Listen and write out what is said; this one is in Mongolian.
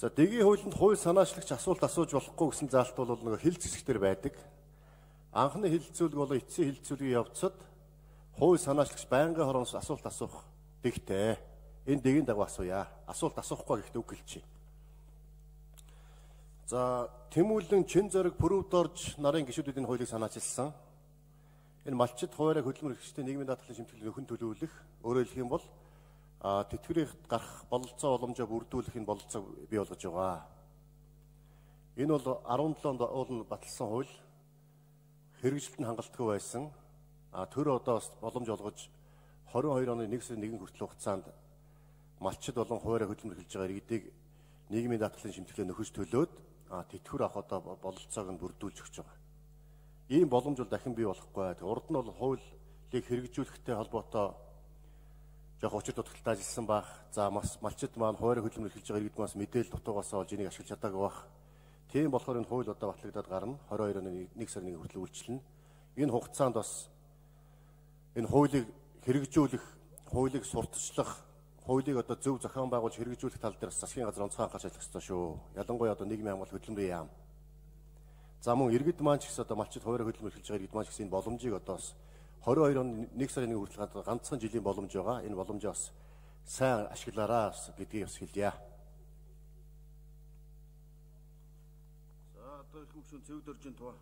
За дэгийн хуулинд хууль санаачлагч асуулт асууж болохгүй гэсэн заалт бол нэг хил зэсгтэр байдаг. Анхны хилцүүлэг болон эцсийн хилцүүлгийн явцад хууль санаачлагч байнгын хороноос асуулт асуух дэгтэй. Энэ дэгийн дагуу асууя. Асуулт асуухгүй гэхдээ үг хэлчихье. За Тэмүүлэн Чин зориг Пүрэвд орж нарын гишүүдийн хуулийг санаачилсан. Энэ малчид хуваарай хөдөлмөр эрхчдийн нийгмийн даатгалын шимтгэлийг нөхөн төлөвлөх, өөрөөр хэлэх юм бол тэтгэврийн гарах бололцоо боломжоо бүрдүүлэх энэ бололцоог бий болгож байгаа. Энэ бол 17 онд баталсан хууль хэрэгжилтэнд хангалтгүй байсан. Тэр одоо боломж олгож 22 оны 1 сарын 1 хүртэл хугацаанд малчид болон хуваарай хөдөлмөр эхэлж байгаа иргэдийг нийгмийн даатгалын шимтгэлээр нөхөж төлөөд тэтгэвэр авах одоо бололцоог нь бүрдүүлж өгч байгаа. Ийм боломж бол дахин бий болохгүй. Урд нь бол хуулийг хэрэгжүүлэхтэй холбоотой жоох учир дутагдaltaй ажилласан байх. За малчид маань хуваарай хөдөлмөр эхэлж байгаа иргэд маань мэдээлэл дутуугаас олж энийг ашиглаж чадаагүй байх. Тийм болохоор энэ хууль одоо батлагдаад гарна. 22 оны 1 сарын 1 хүртэл үйлчлэнэ. Энэ хугацаанд бас энэ хуулийг хэрэгжүүлэх, хуулийг сурталчлах, хуулийг одоо зөв зохион байгуулж хэрэгжүүлэх тал дээр засгийн газар онцгой анхаарч ажиллах ёстой шүү. Ялангуяа одоо нийгмийн хамгаалалт хөдөлмөрийн яам. За мөн иргэд маань ч гэсэн одоо малчид хуваарай хөдөлмөр эхэлж байгаа иргэд маань ч гэсэн энэ боломжийг одоо 22 оны 1 сарын 1 хүртэл ганцхан жилийн боломж байгаа. Энэ боломжоо бас сайн ашиглаарай гэдгийг бас хэлье. За одоо их хөвшин цэвд оржин туу.